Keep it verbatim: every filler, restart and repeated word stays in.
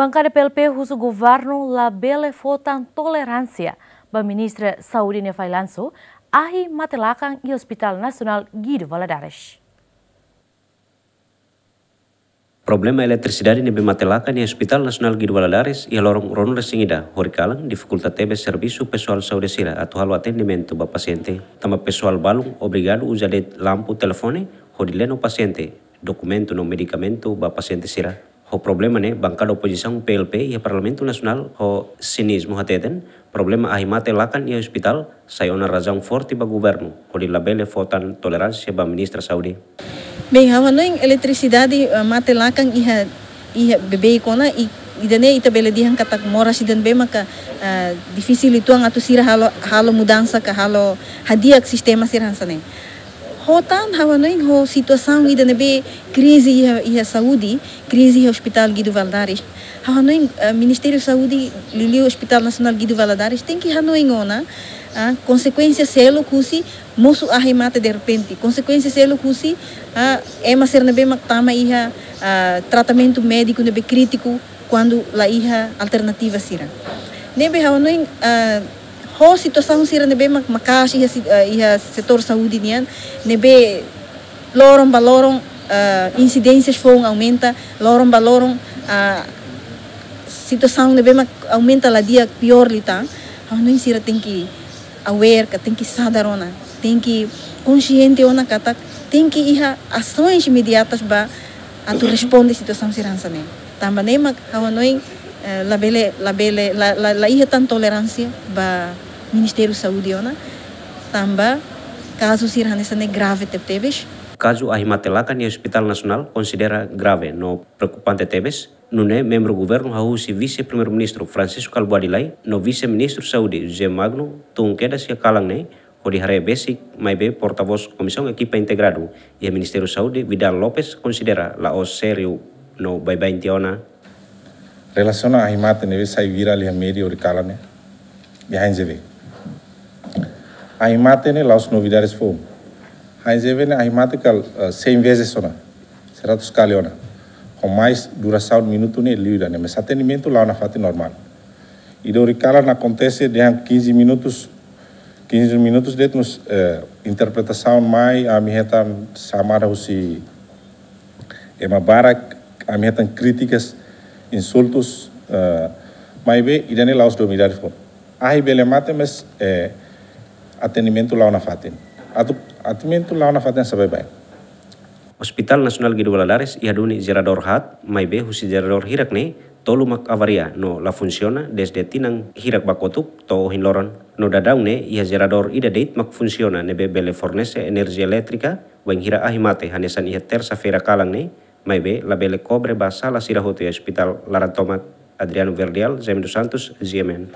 Bankada P L P husu governu labele fó tan toleránsia ba Ministra Saúde nia failansu ahi mate-lakan iha Hospital Nasionál Guido Valadares. Problema eletrisidade ne'ebé mate-lakan iha Hospital Nasionál Guido Valadares iha loron ruanulu-resin-ida horikalan difikulta tebes servisu pesoál saúde sira atu halo atendimentu ba pasiente. Tanba pesoál balun obrigadu uza de'it lampu, telefone hodi leno pasiente, dokumentu no medikamentu ba pasiente sira. Ho problema ne'e, bankada opozisaun P L P iha Parlamentu Nasionál ho sinizmu hateten, problema ahi mate-lakan iha ospitál sai ona razaun forte ba governu hodi labele fó tan toleránsia ba Ministra Saúde. Bem, ha'u hanoin eletrisidade, eh, mate-lakan iha, iha beibeik ona, i, ida-ne'e ita bele dehan katak moras ida ne'ebé maka, eh, difisil uitoan atu sira halo, halo mudansa ka halo hadi'a sistema sira hanesan ne'e. Ho tan, ha'u hanoin ho situasaun ida ne'ebé krize iha, iha saúde, krize iha Hospital Guido Valadares. Ha'u hanoin, eh, Ministériu Saúde, liuliu Hospital Nasionál Guido Valadares, tenke hanoin ona, ah, konsekuénsia seluk husi mosu ahi mate derrepente. Konsekuénsia seluk husi, ah, ema sira ne'ebé mak tama iha, ah, tratamentu médiku ne'ebé krítiku kuandu la iha alternativa sira. Ne'ebé ha'u hanoin, ah, ho situasaun sira ne'ebé mak-, maka'as iha si-, eh, iha setór saúde nian, ne'ebé loron ba loron, eh, insidénsias foun aumenta, loron ba loron, ah, situasaun ne'ebé mak aumenta la di'ak, piór liután. Ha'u hanoin sira tenke aware ka, tenke sadar ona, tenke konxiente ona katak tenke iha asoens imediatas ba atu responde situasaun sira hanesan ne'e. Tanba ne'e mak ha'u hanoin, eh, labele, labele, la, la, la iha tan toleránsia ba Ministériu Saúde ona, tanba kazu sira hanesan ne'e grave tebetebes. Kazu ahi mate-lakan iha Hospital Nasionál konsidera grave no preokupante tebes. Nune'e membru governu hahú husi Vise-Primeiru-Ministru Francisco Kalbuadi Lay no Vise-Ministru Saúde José Magno tun kedas iha kalan ne'e hodi haree besik, maibé portavós Komisaun Ekipa Integradu iha Ministériu Saúde, Vidal Lopes, konsidera la'ós sériu no baibain tiha ona. Relasiona ahi mate ne'ebé sai virál iha média horikalan ne'e, iha H N Z V. Ahi mate ne'e la'ós novidades foun. H N Z V ne'e ahi mate kala, eh, cem vezes ona, seratus kali ona. Ho mais durasaun minutu ne'e liu ida-ne'e, mas atendimentu la'o nafatin normál. Ida horikalan akontese dehan quinze minutos, quinze minutos de'it, no, eh, interpretasaun mai, ami hetan xamada husi ema barak, ami hetan krítikas, insultus, eh, maibé ida-ne'e la'ós novidade foun. Ahi bele mate, mas, eh, atendimentu la'o nafatin. Atu, atendimentu la'o nafatin sá baibain. Hospital Nasionál Guido Valadares iha duni jeradór haat, maibé husi jeradór hirak ne'e, tolu mak avaria no la funsiona dezde tinan hirak ba kotuk to'o ohin loron. No daudaun ne'e iha jeradór ida de'it mak funsiona ne'ebé bele fornese enerjia elétrika bainhira ahi mate hanesan iha tersa-feira kalan ne'e, maibé labele kobre ba sala sira hotu iha ospitál laran tomak. Adriano Verdial, Jaime dos Santos, G M N.